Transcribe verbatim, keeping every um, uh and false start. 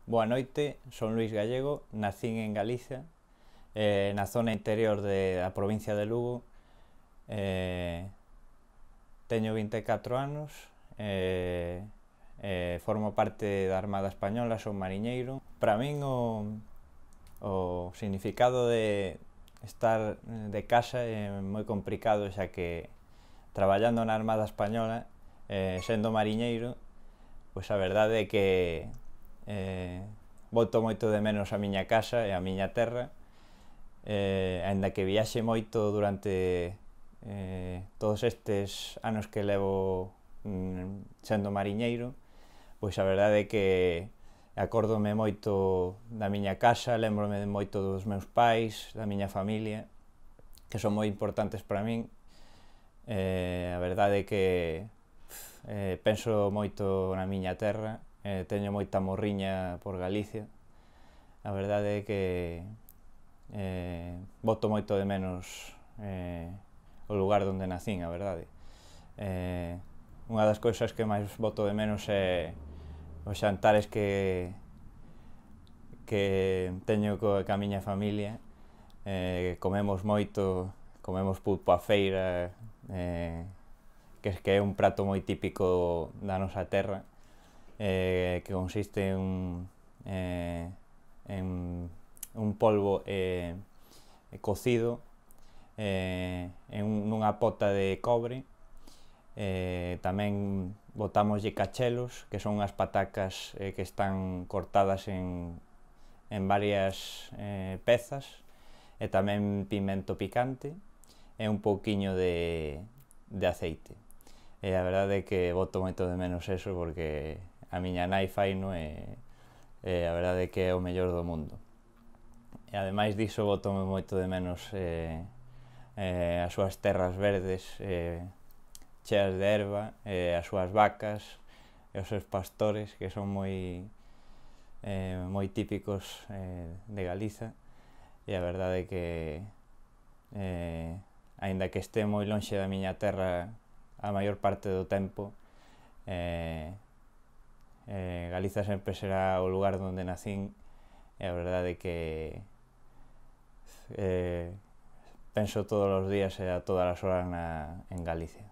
Boa noite, son Luís Gallego, nacín en Galicia, eh, na zona interior de, da provincia de Lugo. eh, Teño vinte e catro anos, eh, eh, formo parte da Armada Española, son mariñeiro. Para min o, o significado de estar de casa é moi complicado, xa que traballando na Armada Española, eh, sendo mariñeiro, pois a verdade é que eh, boto moito de menos a miña casa e a miña terra, eh, aínda que viaxe moito durante eh, todos estes anos que levo mm, sendo mariñeiro, pois a verdade é que acórdome moito da miña casa, lembrome moito dos meus pais, da miña familia, que son moi importantes para min. Eh, a verdade é que eh, penso moito na miña terra, eh, teño moita morriña por Galicia. A verdade é que eh, boto moito de menos eh, o lugar onde nacín, a verdade. Eh, unha das cousas que máis boto de menos é os xantares que que teño co, ca miña familia. Eh, comemos moito, comemos pulpo á feira, eh, que, que é un prato moi típico da nosa terra, eh, que consiste en, eh, en un polvo eh, cocido eh, en nunha pota de cobre. Eh, tamén botámoslle cachelos, que son unhas patacas eh, que están cortadas en, en varias eh, pezas, e tamén pimento picante e un pouquiño de, de aceite. E a verdade é que boto moito de menos eso, porque a miña nai faino e, e a verdade é que é o mellor do mundo. E ademais diso boto moito de menos eh, eh, as súas terras verdes eh, cheas de herba, eh, as súas vacas e os seus pastores, que son moi eh, moi típicos eh, de Galiza. E a verdade é que eh, aínda que este moi lonxe da miña terra a maior parte do tempo, eh, eh, Galiza sempre será o lugar onde nacín, e a verdade é que eh, penso todos os días e a todas as horas na, en Galicia.